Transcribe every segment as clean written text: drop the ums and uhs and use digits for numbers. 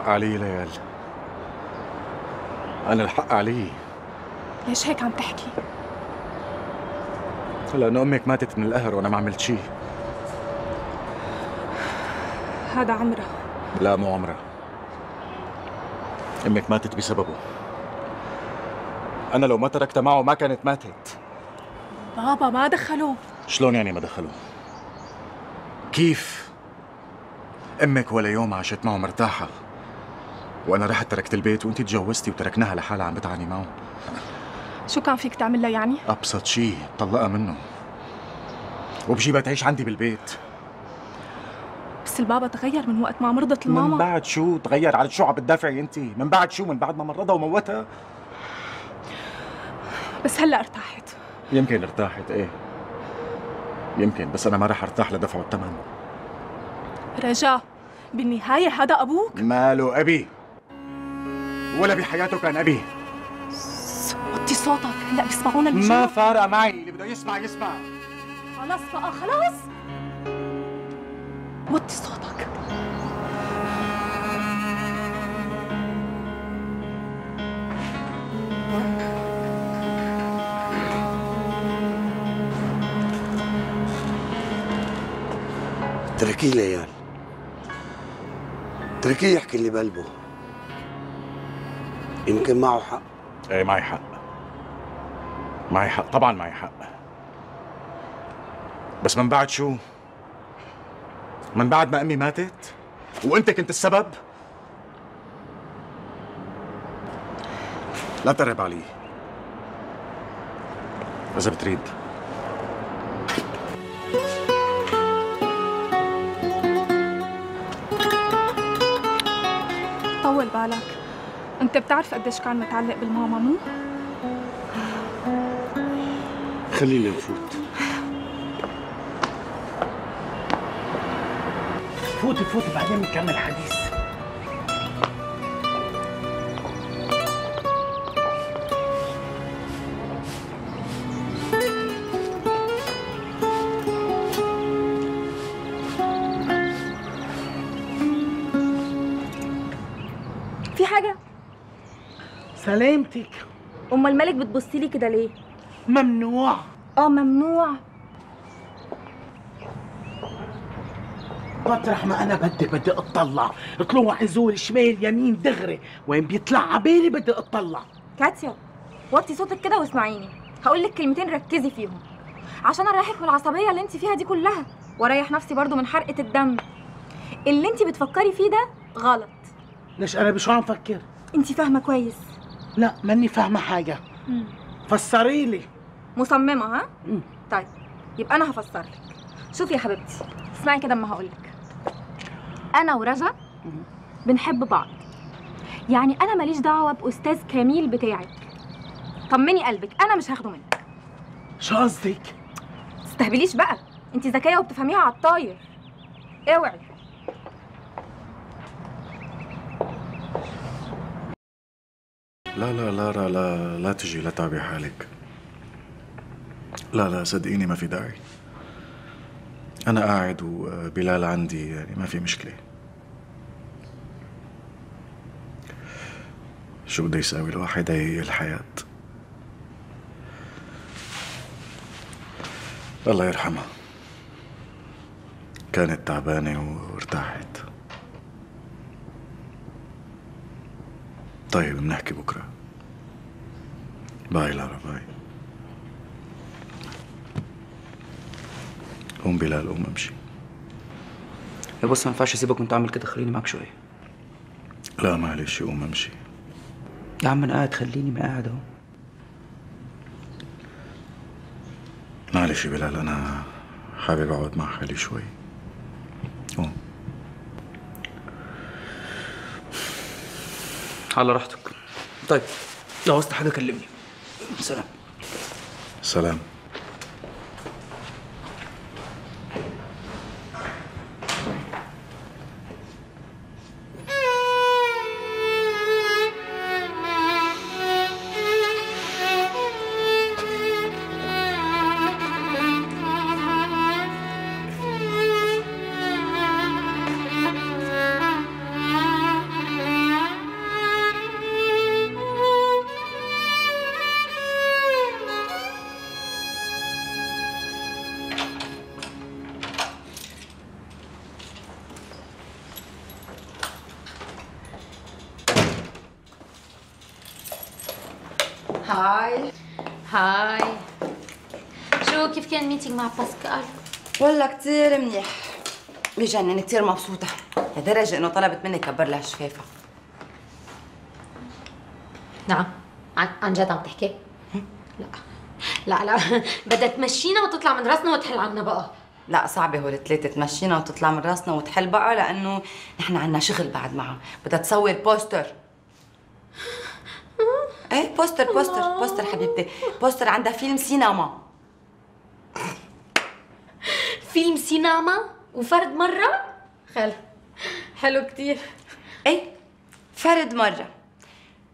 الحق علي ليال، أنا الحق علي. ليش هيك عم تحكي؟ لأنه أمك ماتت من القهر وأنا ما عملت شي. هذا عمرة. لا مو عمرة، أمك ماتت بسببه. أنا لو ما تركتها معه ما كانت ماتت. بابا ما دخلوه. شلون يعني ما دخلوه؟ كيف؟ أمك ولا يوم عاشت معه مرتاحة، وأنا رحت تركت البيت وأنتي تجوزتي وتركناها لحالها عم بتعاني معه. شو كان فيك تعمل لها يعني؟ أبسط شي طلقها منه وبجيبها تعيش عندي بالبيت. بس البابا تغير من وقت ما مرضت الماما. من بعد شو تغير؟ على شو عم بتدافعي انتي؟ من بعد شو؟ من بعد ما مرضها وموتها؟ بس هلا ارتاحت. يمكن ارتاحت، ايه يمكن، بس انا ما رح ارتاح لدفعه الثمن. رجاء، بالنهاية هذا أبوك؟ ماله أبي؟ ولا بحياته كان أبي. وطي صوتك، هلا بيسمعونا اللي جوا. ما فارقة معي، اللي بده يسمع يسمع. خلاص بقى خلاص، وطي صوتك. اتركيه ليال، اتركيه يحكي اللي بقلبه، يمكن معه حق. ايه معي حق، معي حق، طبعا معي حق. بس من بعد شو؟ من بعد ما امي ماتت وانت كنت السبب؟ لا تقرب علي اذا بتريد. طول بالك، انت بتعرف قديش كان متعلق بالماما مو؟ خلينا نفوت. فوتي بعدين بنكمل حديث. في حاجة؟ سلامتك. أم الملك بتبصيلي كده ليه؟ ممنوع. ممنوع. مطرح ما انا بدي اطلع، طلوع نزول شمال يمين دغري، وين بيطلع عبالي بدي اطلع. كاتيا وطي صوتك كده واسمعيني، هقول لك كلمتين ركزي فيهم عشان اريحك من العصبيه اللي انت فيها دي كلها، واريح نفسي برضو من حرقه الدم. اللي انت بتفكري فيه ده غلط. ليش انا بشو عم فكر؟ انت فاهمه كويس. لا ماني فاهمه حاجه. فسري لي. مصممه ها؟ طيب يبقى انا هفسر لك. شوفي يا حبيبتي، اسمعي كده اما هقول لك. انا ورجا بنحب بعض، يعني انا ماليش دعوه باستاذ كميل بتاعك. طمني قلبك، انا مش هاخده منك. شو قصدك؟ تستهبليش بقى، انت ذكيه وبتفهميها على الطاير. اوعي. لا تجي، لا تعبي حالك. لا صدقيني ما في داعي. أنا قاعد وبلال عندي، يعني ما في مشكلة. شو بده يساوي الواحد؟ هي الحياة. الله يرحمها، كانت تعبانة وارتاحت. طيب بنحكي بكرة. باي لارا، باي. قوم بلال، قوم امشي. يا بص ما ينفعش اسيبك وانت عامل كده، خليني معاك شويه. لا معلش، قوم امشي. يا عم انا قاعد، خليني ما قاعد اهو. معلش بلال، انا حابب اقعد مع حالي شوي. قوم. على راحتك. طيب لو عوزت حاجه كلمني. سلام. سلام. هاي. هاي. شو كيف كان الميتينج مع باسكال؟ والله كتير منيح، بجنن، كتير مبسوطة لدرجة إنه طلبت مني كبر لها شفافها. نعم، عن جد عم تحكي؟ لا لا لا، بدها تمشينا وتطلع من راسنا وتحل عنا بقى. لا صعبة هول الثلاثة، تمشينا وتطلع من راسنا وتحل بقى، لأنه نحن عنا شغل بعد معها. بدها تصور بوستر. ايه بوستر حبيبتي، بوستر عندها فيلم سينما. فيلم سينما وفرد مرة؟ حلو كتير. ايه فرد مرة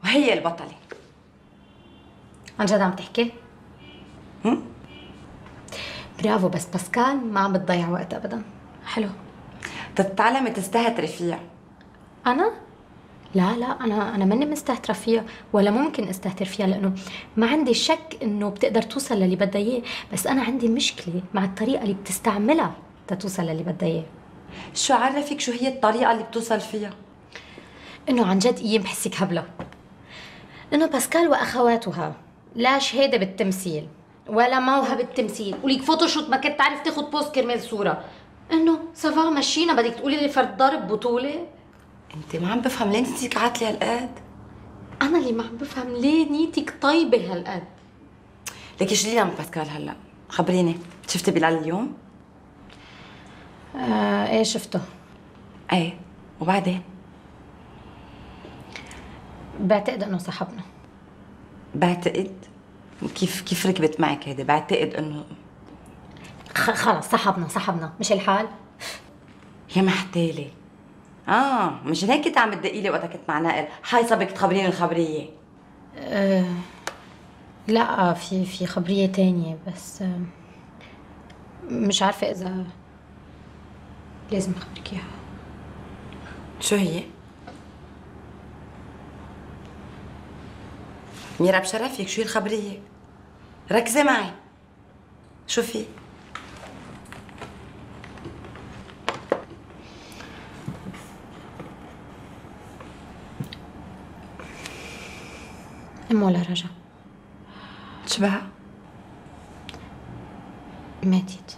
وهي البطلة. عن جد عم تحكي؟ برافو، بس باسكال ما عم بتضيع وقت ابدا. حلو. تتعلمي تستهتري فيها. انا؟ لا انا ماني مستهترة فيها ولا ممكن استهتر فيها، لانه ما عندي شك انه بتقدر توصل للي بدها اياه، بس انا عندي مشكلة مع الطريقة اللي بتستعملها تتوصل للي بدها اياه. شو عرفك شو هي الطريقة اللي بتوصل فيها؟ انه عن جد ايام بحسك هبلة، انه باسكال واخواتها لا شهادة بالتمثيل ولا موهبة بالتمثيل، وليك فوتوشوت ما كنت تعرف تاخد بوست كرمال صورة، انه سافا مشينا بدك تقولي لي فرد ضارب بطولة؟ انت ما عم بفهم ليه نيتك عاتلة هالقد؟ انا اللي ما عم بفهم ليه نيتك طيبة هالقد. ليكي شو لينا من باسكال هلا؟ خبريني، شفتي بلال اليوم؟ ايه شفته. ايه وبعدين؟ بعتقد انه صاحبنا. بعتقد؟ كيف ركبت معك هيدي؟ بعتقد انه خلص صاحبنا مش الحال؟ يا محتالة. مشان هيك كنت عم تدقي لي وقتها كنت مع نائل، حايصة بدك تخبريني الخبرية. لا في خبرية تانية، بس مش عارفة إذا لازم أخبرك إياها. شو هي؟ ميرا بشرفك، شو هي الخبرية؟ ركزي معي. شو في؟ ولا رجا شبها؟ ماتت.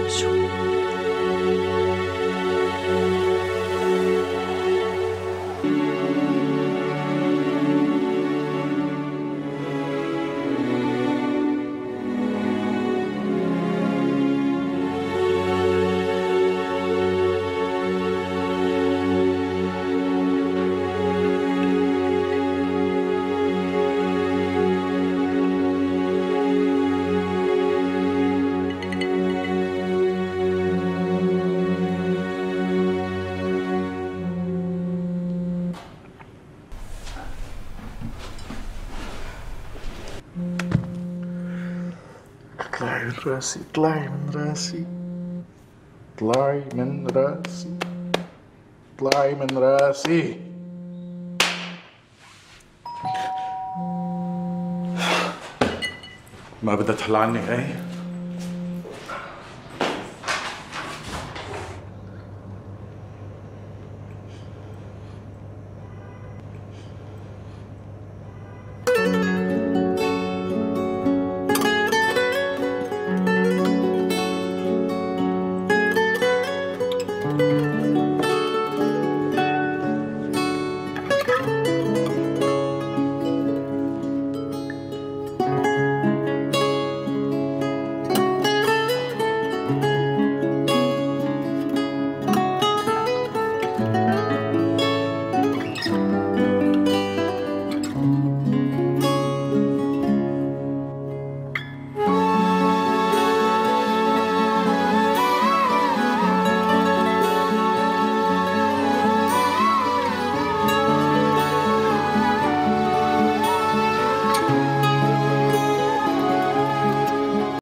شو؟ اطلعي من راسي، اطلعي من راسي، اطلعي من راسي، اطلعي من راسي. ما بدها تحل عني ايه؟